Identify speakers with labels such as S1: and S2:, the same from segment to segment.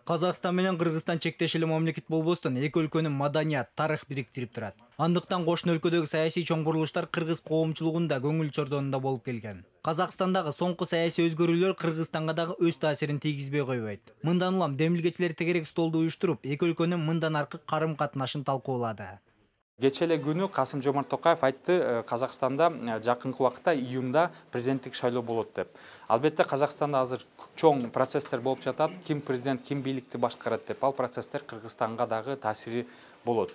S1: Казакстан менен Кыргызстан чектеш эле мамлекет болбостон эки өлкөнүн маданият, тарых бириктирип турат. Андыктан кошуна өлкөдөгү саясий чоң бурулуштар кыргыз коомчулугунда көңүл чордонунда болуп келген. Казакстандагы соңку саясий өзгөрүүлөр Кыргызстанга дагы өз таасирин тийгизбей койбойт. Мындан улам демилгечилер тегерек столду уюштуруп, эки өлкөнүн мындан аркы карым-катнашын талкуулады.
S2: Кече эле күнү Касым-Жомарт Токаев айтты, Казакстанда жакынкы убакытта июнда президенттик шайлоо болот деп. Албетте Казакстанда азыр чоң процесстер болуп жатат. Ким президент, ким бийликти башкарат деп. Ал процесстер Кыргызстанга дагы таасири болот.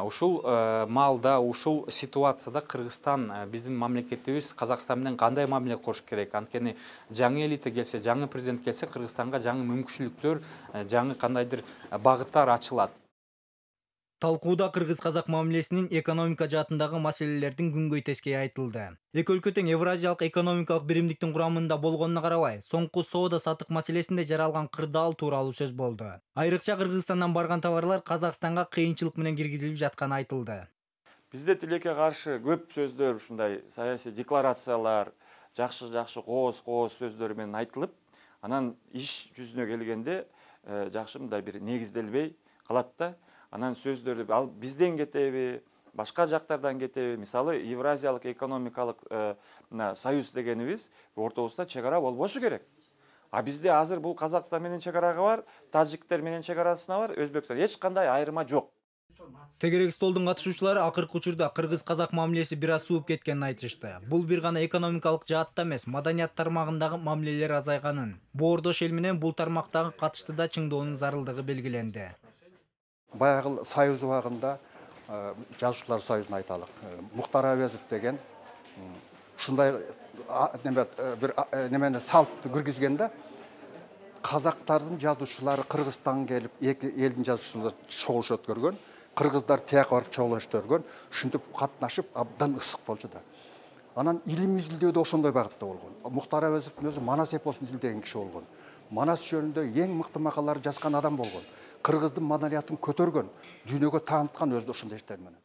S2: Ушул маалда, ушул ситуацияда Кыргызстан, биздин мамлекетибиз Казакстан менен кандай мамиле кылыш керек? Анткени жаңы элита келсе, жаңы президент келсе, Кыргызстанга жаңы мүмкүнчүлүктөр, жаңы кандайдыр багыттар ачылат.
S1: Талкууда кыргыз-казак мамилесинин экономика жаатындагы маселелердин күнгөй тескейи айтылды. Эки өлкө тең Евразиялык экономикалык биримдиктин курамында болгонуна карабай, соңку соода-саттык маселесинде жаралган кырдаал тууралуу сөз болду. Айрыкча Кыргызстандан барган товарлар Казакстанга кыйынчылык менен киргизилип жатканы айтылды.
S3: Бизде тилекке каршы көп сөздөр, ушундай саясий декларациялар, жакшы кооз сөздөр менен айтылып, анан иш жүзүнө келгенде жакшы мындай бир негизделбей калат да. Анан сөздөрдү ал бизден кетеби, башка жактардан кетеби, мисалы Евразиялык экономикалык союз дегенибиз ортобузда чек ара болбошу керек. А бизде азыр бул Казакстан менен чек арага бар, тажиктер менен чек арасына бар, өзбектер эч кандай айырма жок.
S1: Тегерек столдун катышуучулары акыркы учурда кыргыз-казак мамилеси бир аз сууп кеткенин айтышты. Бул бир гана экономикалык жаатта эмес, маданият тармагындагы мамилелер азайганын, боордош эл менен бул тармактагы катышты да чыңдоонун зарылдыгы белгиленди.
S4: Баягы союз убагында жазуучулар союзун айталык. Мухтар Абезов деген ушундай бир немени салтты киргизгенде казактардын жазуучулары Кыргызстанга келип, эки элдин жазуучулары чогулуш өткөргөн, кыргыздар тияка барып чогулуш өткөргөн, ушинтип катнашып абдан ысык болчу да. Анан илим изилдөө да ошондой багытта болгон. Мухтар Абезовдун өзү Манас эпосун изилдеген киши болгон. Манас жөнүндө эң мыкты макалаларды жазган адам болгон. Кыргыздын маданиятын көтөргөн, дүйнөгө тааныткан өзү ошондой иштер менен.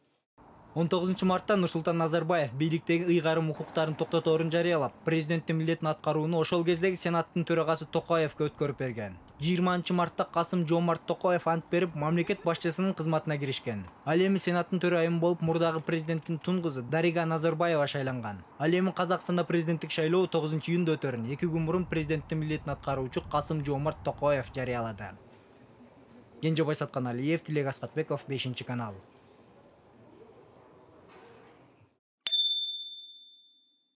S1: 19 мартта Нурсултан Назарбаев бийликтеги ыйгарым укуктарын токтоторун жарыялап, президенттин милдетин аткарууну ошол кездеги Сенаттын төрагасы Токаевге өткөрүп берген. 20 мартта Касым-Жомарт Токаев ант берип, мамлекет башчысынын кызматына киришкен. Ал эми Сенаттын төрайымы болуп, мурдагы президенттин тун кызы Дарига Назарбаева шайланган. Ал эми Казакстанда президенттик шайлоо 9 июнда өтөрүн 2 күн мурун президенттин милдетин аткаруучу Касым-Жомарт Токаев жарыялады. Кенже Байсаткан Алиев, Тилек Аскатбеков, 5 канал.